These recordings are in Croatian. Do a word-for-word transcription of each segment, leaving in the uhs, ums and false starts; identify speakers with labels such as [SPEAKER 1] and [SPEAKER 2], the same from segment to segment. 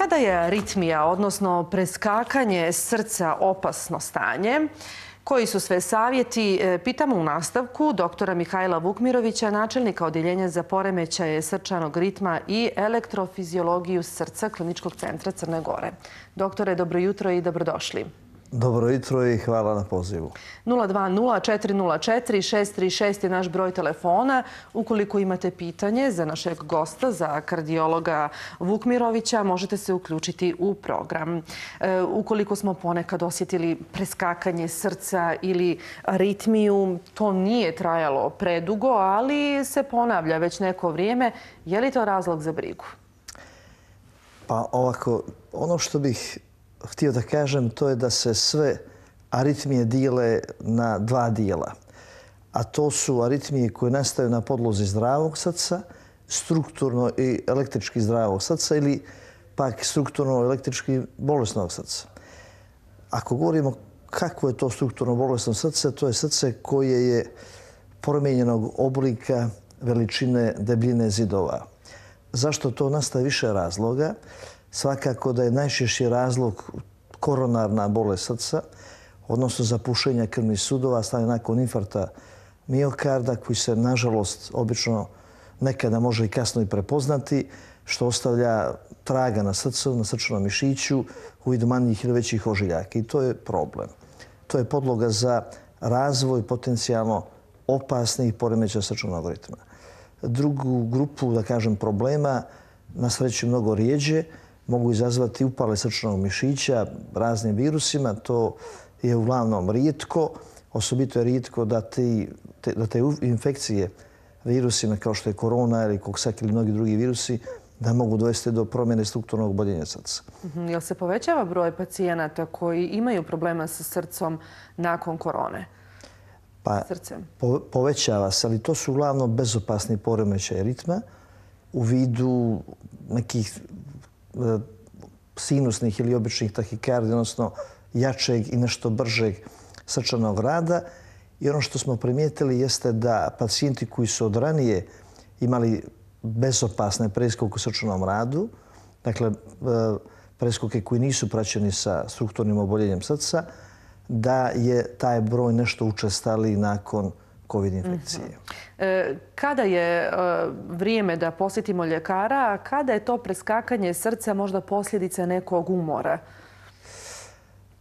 [SPEAKER 1] Kada je aritmija, odnosno preskakanje srca, opasno stanje? Koji su sve savjeti? Pitamo u nastavku doktora Mihajla Vukmirovića, načelnika Odjeljenja za poremećaje srčanog ritma i elektrofiziologiju srca Kliničkog centra Crne Gore. Doktore, dobro jutro i dobrodošli.
[SPEAKER 2] Dobro jutro i hvala na pozivu.
[SPEAKER 1] nula dva nula četiri nula četiri šest tri šest je naš broj telefona. Ukoliko imate pitanje za našeg gosta, za kardiologa Vukmirovića, možete se uključiti u program. E, ukoliko smo ponekad osjetili preskakanje srca ili aritmiju, to nije trajalo predugo, ali se ponavlja već neko vrijeme. Je li to razlog za brigu?
[SPEAKER 2] Pa ovako, ono što bih htio da kažem, to je da se sve aritmije dijele na dva dijela. A to su aritmije koje nastaju na podlozi zdravog srca, strukturno i električki zdravog srca ili pak strukturno električki bolesnog srca. Ako govorimo kako je to strukturno bolesno srce, to je srce koje je promijenjenog oblika, veličine, debljine zidova. Zašto to nastaje? Više razloga. Svakako da je najčešći razlog koronarna bolest srca, odnosno zapušenja krvnih sudova, stanje nakon infarkta miokarda, koji se, nažalost, obično nekada može i kasno i prepoznati, što ostavlja traga na srcu, na srčanom mišiću u vidu manjih ili većih ožiljaka. I to je problem. To je podloga za razvoj potencijalno opasnih poremećaja srčanog ritma. Drugu grupu, da kažem, problema, na sreću mnogo rijeđe, mogu izazvati upale srčanog mišića raznim virusima. To je uglavnom rijetko. Osobito je rijetko da, ti, te, da te infekcije virusima kao što je korona ili koksak ili mnogi drugi virusi da mogu dovesti do promjene strukturnog oboljenja srca.
[SPEAKER 1] Mm-hmm. Jel se povećava broj pacijenata koji imaju problema sa srcom nakon korone?
[SPEAKER 2] Pa, po, povećava se, ali to su uglavnom bezopasni poremećaji ritma u vidu nekih sinusnih ili običnih tahikardija, odnosno jačeg i nešto bržeg srčanog rada. I ono što smo primijetili jeste da pacijenti koji su od ranije imali bezopasne preskoke u srčanom radu, dakle preskoke koji nisu praćeni sa strukturnim oboljenjem srca, da je taj broj nešto učestaliji nakon COVID infekcije.
[SPEAKER 1] Mm-hmm. Kada je vrijeme da posjetimo ljekara, a kada je to preskakanje srca možda posljedica nekog umora?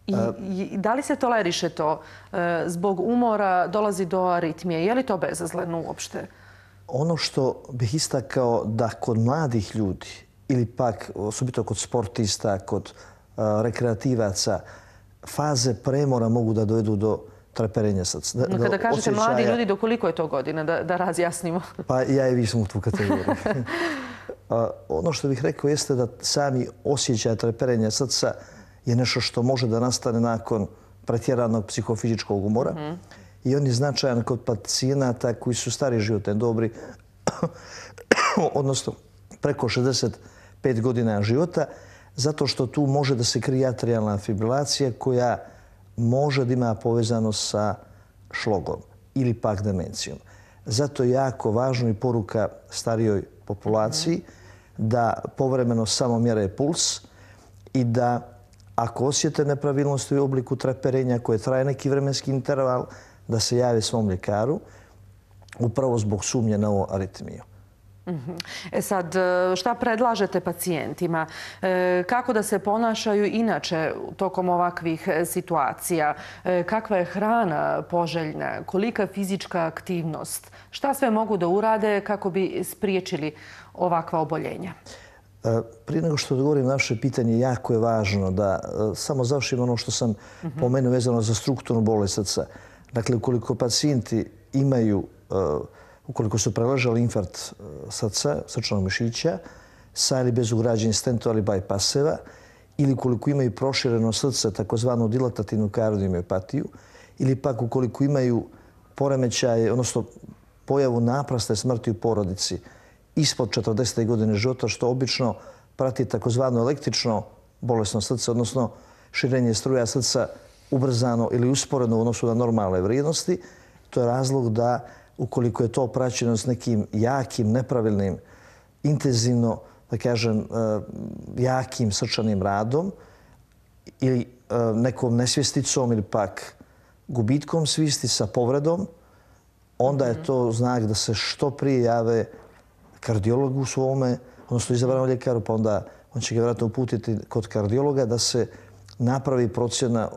[SPEAKER 1] I, i da li se toleriše to? Zbog umora dolazi do aritmije. Je li to bezazleno uopšte?
[SPEAKER 2] Ono što bih istakao da kod mladih ljudi ili pak osobito kod sportista, kod rekreativaca, faze premora mogu da dovedu do treperenja srca.
[SPEAKER 1] No, kada kažete osjećaja... mladi ljudi, do koliko je to godina, da, da razjasnimo?
[SPEAKER 2] Pa ja i vi smo u tu kategoriju. Ono što bih rekao jeste da sami osjećaj treperenja srca je nešto što može da nastane nakon pretjeranog psihofizičkog umora. Mm-hmm. I on je značajan kod pacijenata koji su stari životne dobi, odnosno preko šezdeset pet godina života, zato što tu može da se krije atrijalna fibrilacija koja može da ima povezano sa šlogom ili pak demencijom. Zato je jako važno i poruka starijoj populaciji da povremeno samo mjere puls i da ako osjete nepravilnosti u obliku treperenja koje traje neki vremenski interval, da se jave svom ljekaru upravo zbog sumnje na ovu aritmiju.
[SPEAKER 1] E sad, šta predlažete pacijentima? Kako da se ponašaju inače tokom ovakvih situacija? Kakva je hrana poželjna? Kolika fizička aktivnost? Šta sve mogu da urade kako bi spriječili ovakva oboljenja?
[SPEAKER 2] Prije nego što odgovorim na naše pitanje, jako je važno da samo završim ono što sam mm-hmm. pomenuo vezano za strukturnu bolest srca. Dakle, ukoliko pacijenti imaju ukoliko su preležali infarkt srca, srčanog mišića, sa ili bez ugrađenih stentova ili bajpaseva, ili ukoliko imaju prošireno srce, takozvanu dilatativnu kardiomiopatiju, ili pak ukoliko imaju poremećaje, odnosno pojavu naprasne smrti u porodici ispod četrdesete godine života, što obično prati takozvano električno bolesno srce, odnosno širenje struja srca ubrzano ili usporeno u odnosu na normalne vrijednosti, to je razlog da ukoliko je to praćeno s nekim jakim, nepravilnim, intenzivno da kažem, jakim srčanim radom ili nekom nesvjesticom ili pak gubitkom svijesti sa povredom, onda je to znak da se što prije jave kardiologu svome, odnosno izabranom ljekaru, pa onda on će ga vjerojatno uputiti kod kardiologa da se napravi procjena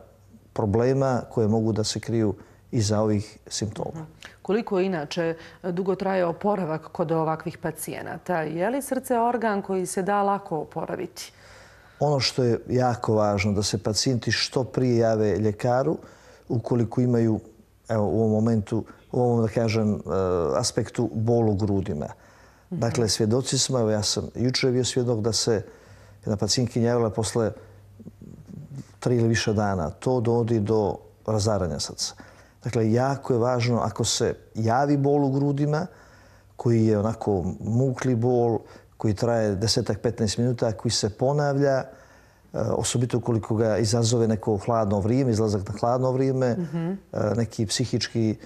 [SPEAKER 2] problema koje mogu da se kriju iza ovih simptoma.
[SPEAKER 1] Koliko inače dugo traje oporavak kod ovakvih pacijenata? Je li srce organ koji se da lako oporaviti?
[SPEAKER 2] Ono što je jako važno da se pacijenti što prije jave ljekaru ukoliko imaju, evo, u ovom momentu, u ovom, da kažem, aspektu bol u grudima. Dakle, svjedoci smo, evo ja sam jučer bio svjedok da se jedna pacijentkinja javila posle tri ili više dana. To dovodi do razaranja srca. Dakle, jako je važno ako se javi bol u grudima, koji je onako mukli bol, koji traje desetak do petnaest minuta, koji se ponavlja, osobito ukoliko ga izazove neko hladno vrijeme, izlazak na hladno vrijeme, neki psihički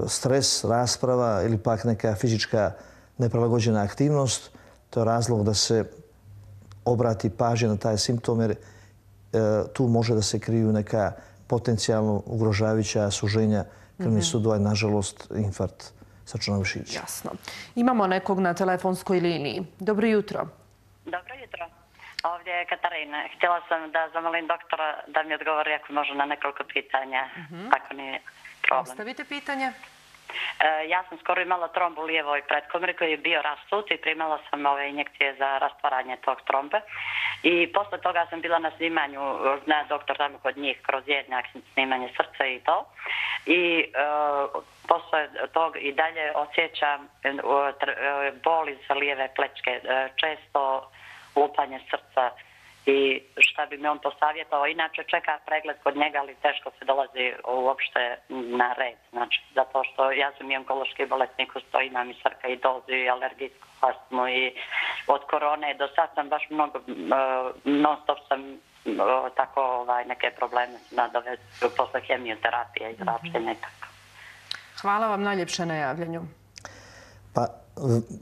[SPEAKER 2] stres, rasprava ili pak neka fizička neprilagođena aktivnost, to je razlog da se obrati pažnja na taj simptom, jer tu može da se kriju neka potencijalno ugrožavajuća suženja krvnih sudova i, nažalost, infarkt srčanog mišića.
[SPEAKER 1] Jasno. Imamo nekog na telefonskoj liniji. Dobro jutro.
[SPEAKER 3] Dobro jutro. Ovdje je Katarina. Htjela sam da zamolim doktora da mi odgovori ako može na nekoliko pitanja, ako nije problem.
[SPEAKER 1] Ostavite pitanje.
[SPEAKER 3] Ja sam skoro imala trombu u lijevoj pretkomori koji je bio rasut i primala sam ove injekcije za rastvaranje tog trombe. I posle toga sam bila na snimanju, zna doktor tamo kod njih, kroz jednjak, snimanje srca i to. I e, posle tog i dalje osjećam e, bol iz lijeve plečke, e, često lupanje srca. I šta bi mi on posavjetao, inače čeka pregled kod njega, ali teško se dolazi uopšte na red. Znači, zato što ja sam i onkološki bolesnik, usto imam i srka i dozu i alergijsku astmu i od korone do sad sam baš mnogo, non stop sam tako ovaj, neke probleme nadovezio posle hemioterapije i zračenja i tako.
[SPEAKER 1] Hvala vam najljepše na javljanju.
[SPEAKER 2] Pa,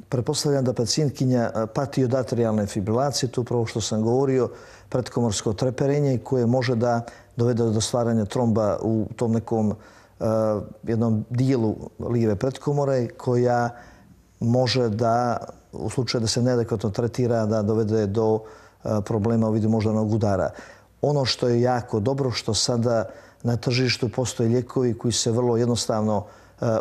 [SPEAKER 2] pretpostavljam da pacijentkinja pati od atrijalne fibrilacije, to upravo što sam govorio, pretkomorsko treperenje koje može da dovede do stvaranja tromba u tom nekom jednom dijelu lijeve pretkomore koja može da, u slučaju da se neadekvatno tretira, da dovede do problema u vidu moždanog udara. Ono što je jako dobro, što sada na tržištu postoje lijekovi koji se vrlo jednostavno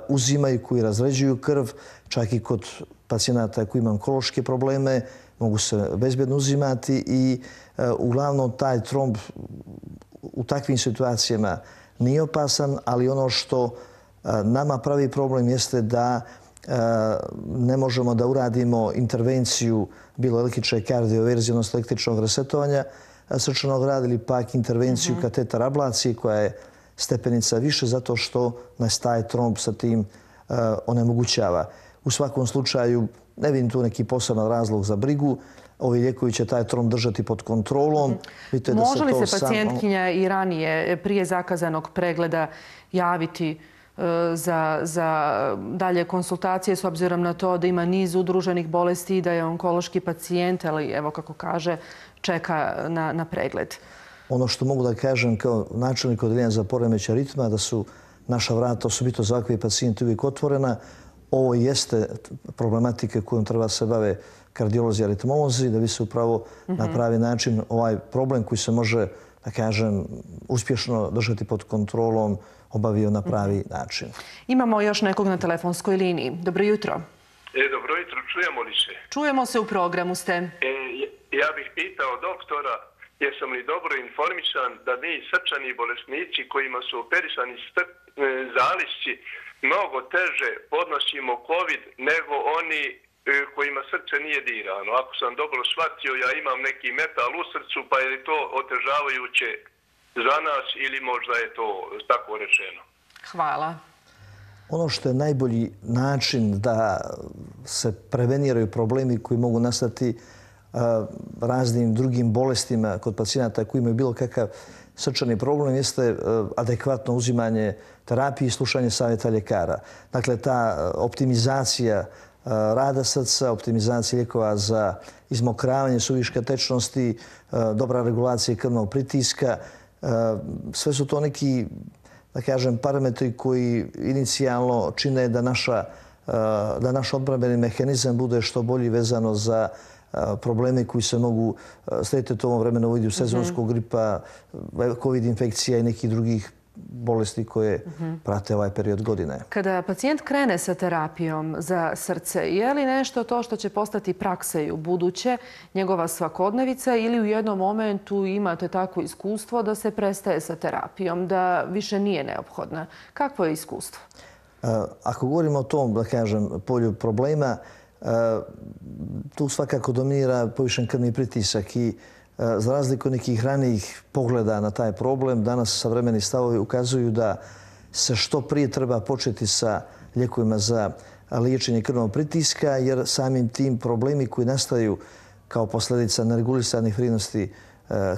[SPEAKER 2] uzimaju, koji razređuju krv, čak i kod pacijenata koji imaju onkološke probleme, mogu se bezbjedno uzimati i uglavnom taj tromb u takvim situacijama nije opasan, ali ono što nama pravi problem jeste da ne možemo da uradimo intervenciju bilo električne kardioverzije, odnosno električnog resetovanja srčanog rada ili pak intervenciju kateter ablacije koja je stepenica više zato što nas taj tromb sa tim onemogućava. U svakom slučaju ne vidim tu neki poseban razlog za brigu. Ovi lijekovi će taj tromb držati pod kontrolom.
[SPEAKER 1] Može li se pacijentkinja i ranije, prije zakazanog pregleda, javiti za, za dalje konsultacije s obzirom na to da ima niz udruženih bolesti i da je onkološki pacijent, ali evo kako kaže, čeka na, na pregled?
[SPEAKER 2] Ono što mogu da kažem kao načelnik odeljenja za poremećaj ritma, da su naša vrata, osobito za ovakve pacijente, uvijek otvorena. Ovo jeste problematika kojom treba se bave kardiolozi i aritmolozi, da bi se upravo na pravi način ovaj problem koji se može, da kažem, uspješno držati pod kontrolom, obavio na pravi način.
[SPEAKER 1] Imamo još nekog na telefonskoj liniji. Dobro jutro.
[SPEAKER 4] E, dobro jutro, čujemo li se?
[SPEAKER 1] Čujemo se, u programu ste.
[SPEAKER 4] E, ja bih pitao doktora, jesam li dobro informisan da mi srčani bolesnici kojima su operisani zalisci mnogo teže podnosimo COVID nego oni kojima srce nije dirano. Ako sam dobro shvatio, ja imam neki metal u srcu, pa je li to otežavajuće za nas ili možda je to tako rečeno?
[SPEAKER 1] Hvala.
[SPEAKER 2] Ono što je najbolji način da se preveniraju problemi koji mogu nastati raznim drugim bolestima kod pacijenata koji imaju bilo kakav srčani problem jeste adekvatno uzimanje terapije i slušanje savjeta ljekara. Dakle, ta optimizacija rada srca, optimizacije lijekova za izmokravanje suviška tečnosti, dobra regulacija krvnog pritiska. Sve su to neki, da kažem, parametri koji inicijalno čine da naša da naš odbrambeni mehanizam bude što bolji vezano za probleme koji se mogu sretiti u ovom vremenu u vidu sezonskog gripa, covid infekcija i nekih drugih bolesti koje prate ovaj period godine.
[SPEAKER 1] Kada pacijent krene sa terapijom za srce, je li nešto to što će postati praksa i u buduće, njegova svakodnevica, ili u jednom momentu imate takvo iskustvo da se prestaje sa terapijom, da više nije neophodna? Kakvo je iskustvo?
[SPEAKER 2] Ako govorimo o tom, da kažem, polju problema, tu svakako dominira povišen krvni pritisak i za razliku nekih ranijih pogleda na taj problem, danas savremeni stavovi ukazuju da se što prije treba početi sa lijekovima za liječenje krvnog pritiska, jer samim tim problemi koji nastaju kao posljedica neregulisanih vrijednosti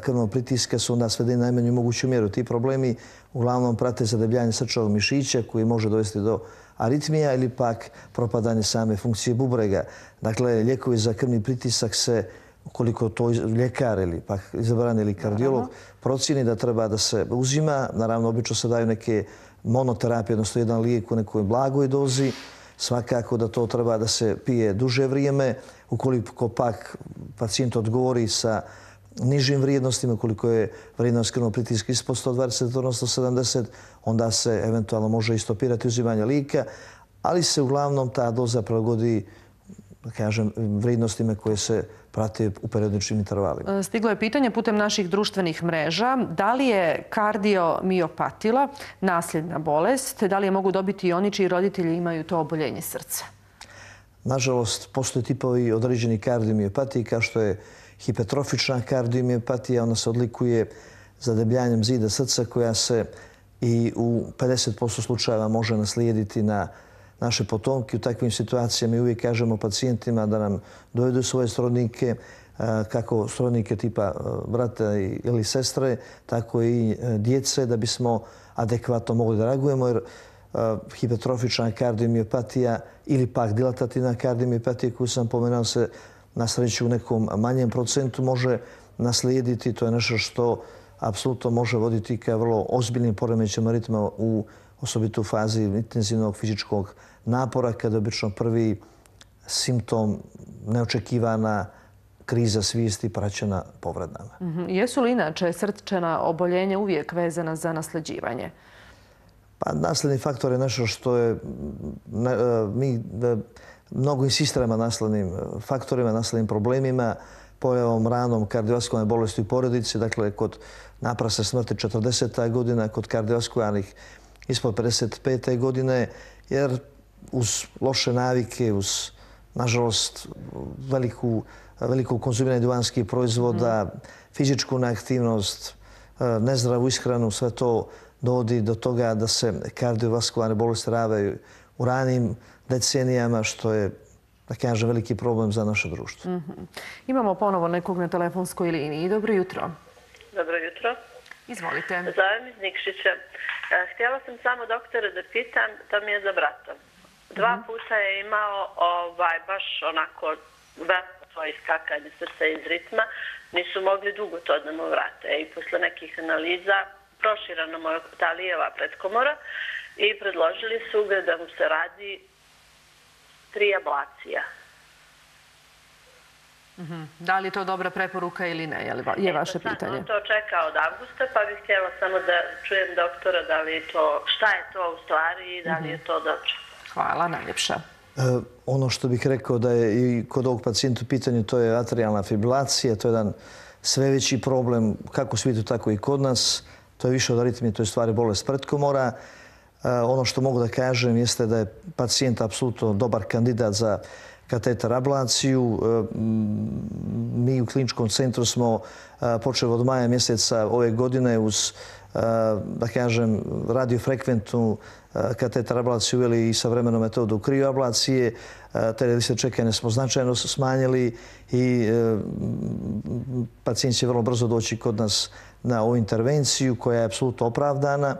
[SPEAKER 2] krvnog pritiska su onda svedeni najmanju moguću mjeru. Ti problemi uglavnom prate zadebljanje srčanog mišića koji može dovesti do aritmija ili pak propadanje same funkcije bubrega. Dakle, lijekovi za krvni pritisak se, ukoliko to ljekar ili pak izabran ili kardiolog procjeni da treba da se uzima, naravno obično se daju neke monoterapije, odnosno jedan lijek u nekoj blagoj dozi, svakako da to treba da se pije duže vrijeme, ukoliko pak pacijent odgovori sa nižim vrijednostima, ukoliko je vrijednost krvnog pritiska ispod sto dvadeset, odnosno sedamdeset, onda se eventualno može i stopirati uzimanje lijeka, ali se uglavnom ta doza prilagodi, da kažem, vrijednostima koje se prate u periodičnim intervalima.
[SPEAKER 1] Stiglo je pitanje putem naših društvenih mreža. Da li je kardiomiopatija nasljedna bolest, te da li je mogu dobiti i oni čiji roditelji imaju to oboljenje srca?
[SPEAKER 2] Nažalost, postoje tipovi određeni kardiomiopatije, kao što je hipertrofična kardiomiopatija. Ona se odlikuje zadebljanjem zida srca koja se i u pedeset posto slučajeva može naslijediti na naše potomke. U takvim situacijama mi uvijek kažemo pacijentima da nam dovedu svoje srodnike, kako srodnike tipa brata ili sestre, tako i djece, da bismo adekvatno mogli da reagujemo, jer hipertrofična kardiomiopatija ili pak dilatativna kardiomiopatija koju sam pomenuo se na sreću u nekom manjem procentu može naslijediti. To je nešto što apsolutno može voditi ka vrlo ozbiljnim poremećajima ritma u osobito u fazi intenzivnog fizičkog napora, kada je obično prvi simptom neočekivana kriza svijesti praćena povredama.
[SPEAKER 1] Jesu li inače srčana oboljenja uvijek vezana za nasleđivanje?
[SPEAKER 2] Pa nasledni faktor je nešto što je mi mnogo insistiramo na naslednim faktorima, naslednim problemima, pojavom ranom kardiovaskularne bolesti u porodici, dakle kod naprasne smrti četrdeseta godina, kod kardiovaskularnih ispod pedeset pete godine, jer uz loše navike, uz, nažalost, veliku, veliko konzumiranje duvanskih proizvoda, fizičku neaktivnost, nezdravu ishranu, sve to dovodi do toga da se kardiovaskularne bolesti ravaju u ranim decenijama, što je, da kažem, veliki problem za naše društvo.
[SPEAKER 1] Mm-hmm. Imamo ponovo nekog na telefonskoj liniji. Dobro jutro.
[SPEAKER 5] Dobro jutro.
[SPEAKER 1] Izvolite.
[SPEAKER 5] Zovem iz Nikšića. Htjela sam samo doktora da pitam, to mi je za brata. Dva mm-hmm. puta je imao ovaj, baš onako veliko svoje iskakanje srca iz ritma. Nisu mogli dugo to da mu vrate. I posle nekih analiza proširana mu je ta lijeva pretkomora i predložili su ga da mu se radi tri ablacija.
[SPEAKER 1] Mm-hmm. Da li je to dobra preporuka ili ne, je vaše pitanje?
[SPEAKER 5] On to čeka od avgusta, pa bih htjela samo da čujem doktora da li je to, šta je to u stvari i da li je to dobro.
[SPEAKER 1] Hvala, najljepša.
[SPEAKER 2] E, ono što bih rekao da je i kod ovog pacijenta u pitanju, to je atrijalna fibrilacija, to je jedan sve veći problem kako u svijetu, tako i kod nas. To je više od aritmije, to je stvari bolest pretkomora. E, ono što mogu da kažem jeste da je pacijent apsolutno dobar kandidat za kateter ablaciju. Mi u kliničkom centru smo počeli od maja mjeseca ove godine uz, da kažem, radiofrekventnu kateter ablaciju uveli i savremenu metodu krioablacije. Te liste čekanja smo značajno smanjili i pacijent će vrlo brzo doći kod nas na ovu intervenciju koja je apsolutno opravdana.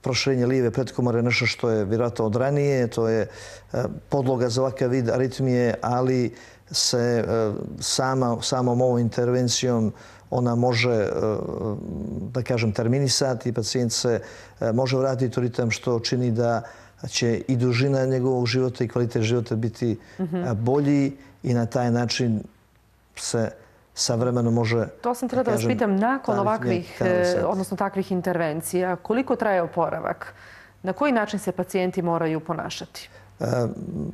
[SPEAKER 2] proširenje lijeve pretkomore nešto što je vjerojatno od ranije, to je podloga za ovakav vid aritmije, ali se sama, samom ovom intervencijom ona može, da kažem, terminisati i pacijent se može vratiti u ritam što čini da će i dužina njegovog života i kvalitet života biti bolji i na taj način se sa vremenom može...
[SPEAKER 1] To sam htjela da vas pitam, nakon ovakvih, odnosno takvih intervencija, koliko traje oporavak? Na koji način se pacijenti moraju ponašati?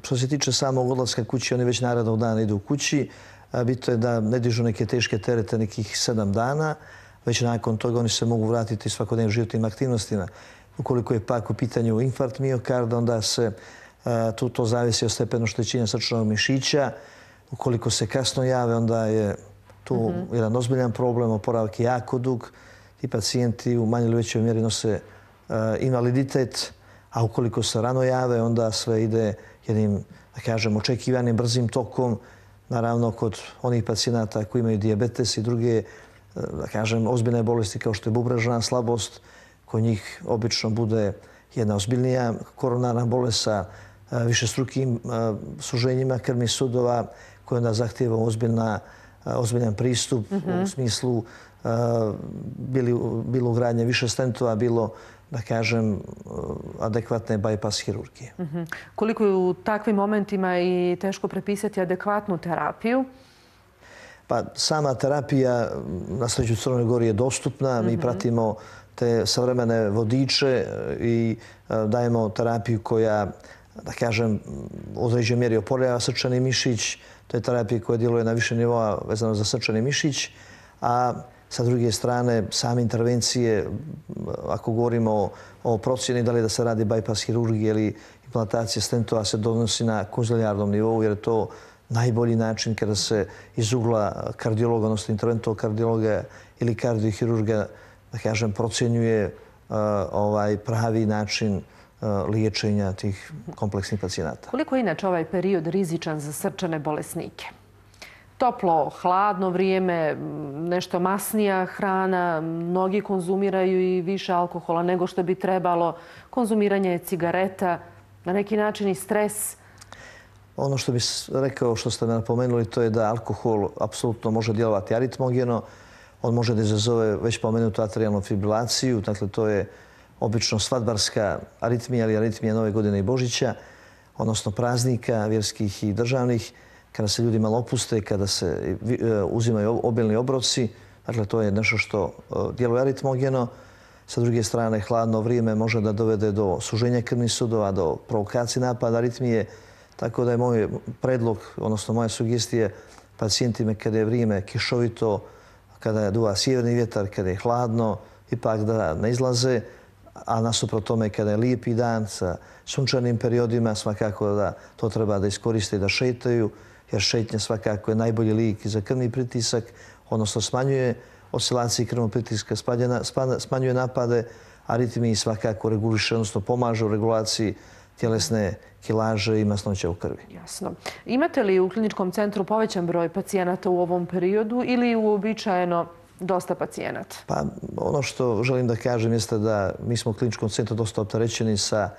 [SPEAKER 2] Što se tiče samog odlaska kući, oni već narednog dana idu u kući. Bitno je da ne dižu neke teške terete nekih sedam dana. Već nakon toga oni se mogu vratiti svakodnevnim životnim aktivnostima. Ukoliko je pak u pitanju infarkt miokarda, onda se tu to zavisi od stepena oštećenja srčanog mišića. Ukoliko se kasno jave, onda je tu jedan ozbiljan problem, oporavak je jako dug. Ti pacijenti u manjoj ili većoj mjeri nose invaliditet, a ukoliko se rano jave, onda sve ide jednim, da kažem, očekivanim brzim tokom. Naravno, kod onih pacijenata koji imaju dijabetes i druge, da kažem, ozbiljne bolesti kao što je bubrežna slabost, kod njih obično bude jedna ozbiljnija koronarna bolest sa višestrukim suženjima krvnih sudova koja onda zahtijeva ozbiljan pristup u smislu bilo ugradnje više stentova, bilo, da kažem, adekvatne bypass hirurgije.
[SPEAKER 1] Koliko je u takvim momentima i teško prepisati adekvatnu terapiju?
[SPEAKER 2] Pa sama terapija na sreću u Crnoj Gori je dostupna. Mi pratimo te savremene vodiče i dajemo terapiju koja, da kažem, u određenoj mjeri oporavlja srčani mišić. To je terapija koja djeluje na više nivoa vezano za srčani mišić. A sa druge strane, same intervencije, ako govorimo o procjeni da li da se radi bypass hirurgije ili implantacije stentova, se donosi na konzilijarnom nivou, jer je to najbolji način kada se iz ugla kardiologa, odnosno interventnog kardiologa ili kardiohirurga, da kažem, procjenjuje ovaj pravi način liječenja tih kompleksnih pacijenata.
[SPEAKER 1] Koliko je inače ovaj period rizičan za srčane bolesnike? Toplo, hladno vrijeme, nešto masnija hrana, mnogi konzumiraju i više alkohola nego što bi trebalo, konzumiranje cigareta, na neki način i stres.
[SPEAKER 2] Ono što bih rekao, što ste me napomenuli, to je da alkohol apsolutno može djelovati aritmogeno. On može da izazove već pomenutu atrijalnu fibrilaciju, dakle to je obično svadbarska aritmija ili aritmija Nove godine i Božića, odnosno praznika vjerskih i državnih, kada se ljudi malo opuste, kada se uzimaju obilni obroci. Dakle, to je nešto što djeluje aritmogeno. Sa druge strane, hladno vrijeme može da dovede do suženja krvnih sudova, do provokacije napada aritmije. Tako da je moj predlog, odnosno moja sugestija pacijentima kada je vrijeme kišovito, kada je duva sjeverni vjetar, kada je hladno, ipak da ne izlaze, a nasuprot tome kada je lijepi dan sa sunčanim periodima, svakako da to treba da iskoriste i da šetaju, jer šetnja svakako je najbolji lijek za krvni pritisak, odnosno smanjuje oscilacije krvnog pritiska, smanjuje napade aritmiji, svakako reguliše, odnosno pomaže u regulaciji tjelesne kilaže i masnoća u krvi.
[SPEAKER 1] Jasno. Imate li u kliničkom centru povećan broj pacijenata u ovom periodu ili uobičajeno dosta pacijenata?
[SPEAKER 2] Pa ono što želim da kažem jeste da mi smo u kliničkom centru dosta opterećeni sa,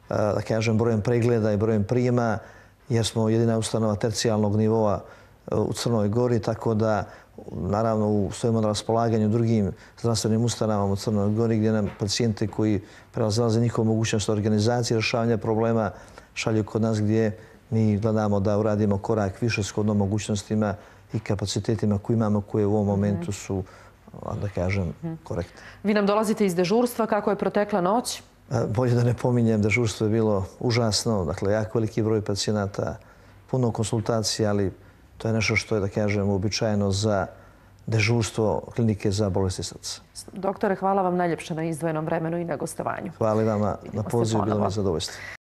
[SPEAKER 2] da kažem, brojem pregleda i brojem prijema, jer smo jedina ustanova tercijalnog nivoa u Crnoj Gori, tako da naravno stojimo na raspolaganju drugim zdravstvenim ustanovama u Crnoj Gori, gdje nam pacijente koji prelaze njihovu mogućnost organizacije rješavanja problema šalju kod nas, gdje mi gledamo da uradimo korak više shodno mogućnostima i kapacitetima koje imamo, koje u ovom momentu su, da kažem, korektne.
[SPEAKER 1] Vi nam dolazite iz dežurstva. Kako je protekla noć?
[SPEAKER 2] Bolje da ne pominjem, dežurstvo je bilo užasno. Dakle, jako veliki broj pacijenata, puno konsultacija, ali to je nešto što je, da kažem, uobičajeno za dežurstvo klinike za bolesti srca.
[SPEAKER 1] Doktore, hvala vam najljepše na izdvojenom vremenu i na gostovanju.
[SPEAKER 2] Hvala vama na pozivu, bilo mi zadovoljstvo.